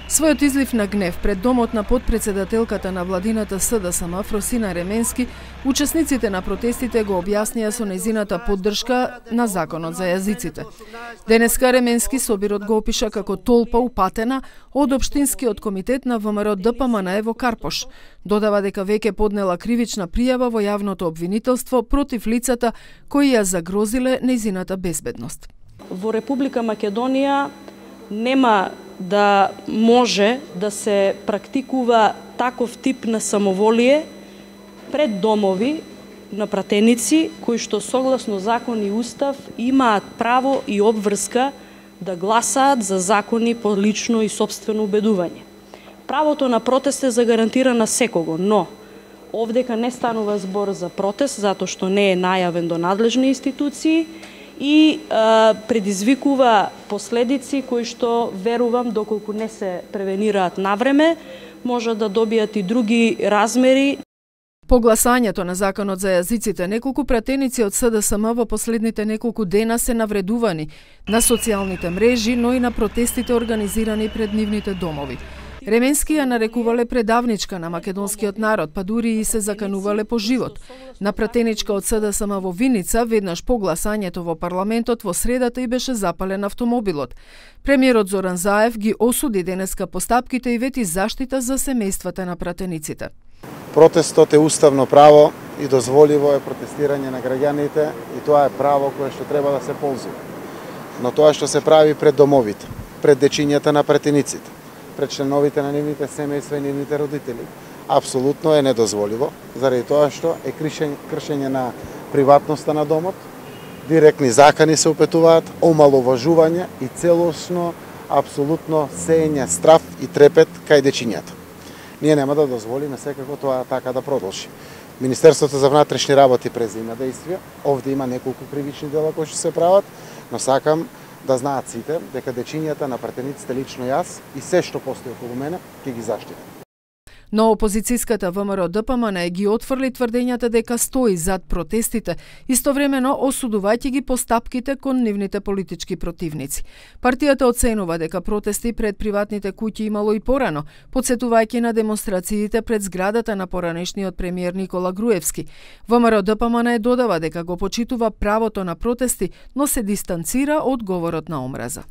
Својот излив на гнев пред домот на потпредседателката на владината СДСМ Фросина Ременски, учесниците на протестите го објаснија со нејзината поддршка на законот за јазиците. Денеска Ременски собирот го опиша како толпа упатена од Општинскиот комитет на ВМРО ДПМН Ево Карпош. Додава дека веќе поднела кривична пријава во јавното обвинителство против лицата кои ја загрозиле нејзината безбедност. Во Република Македонија нема да може да се практикува таков тип на самоволие пред домови на пратеници кои што согласно закон и устав имаат право и обврска да гласаат за закони по лично и сопствено убедување. Правото на протест е загарантирано на секого, но овдека не станува збор за протест затоа што не е најавен до надлежни институции и предизвикува последици кои што верувам доколку не се превенираат навреме може да добијат и други размери. По гласањето на законот за јазиците, неколку пратеници од СДСМ во последните неколку дена се навредувани на социјалните мрежи, но и на протестите организирани пред нивните домови. Ременски ја нарекувале предавничка на македонскиот народ, па дури и се заканувале по живот. На пратеничка од СДСМ во Виница, веднаш по гласањето во парламентот во средата и беше запален автомобилот. Премиерот Зоран Заев ги осуди денеска постапките и вети заштита за семејствата на пратениците. Протестот е уставно право и дозволиво е протестирање на граѓаните и тоа е право кое што треба да се ползува. Но тоа што се прави пред домовите, пред дечињата на пратениците, пред членовите на нивните семејства и нивните родители, апсолутно е недозволиво, заради тоа што е кршење на приватноста на домот, директни закани се упетуваат, омаловажување и целосно, апсолутно сеење страв и трепет кај дечињата. Ние нема да дозволиме секако тоа така да продолжи. Министерството за внатрешни работи презема действија, овде има неколку кривични дела кои што се прават, но сакам да знаат сите дека дечињата на пратениците лично јас и се што постои околу мене ќе ги заштитам. Но опозицијската ВМРО ДПМН ги отфрли тврдењата дека стои зад протестите, истовремено осудувајќи ги постапките кон нивните политички противници. Партијата оценува дека протести пред приватните куќи имало и порано, потсетувајќи на демонстрациите пред зградата на поранешниот премиер Никола Груевски. ВМРО ДПМН додава дека го почитува правото на протести, но се дистанцира од говорот на омраза.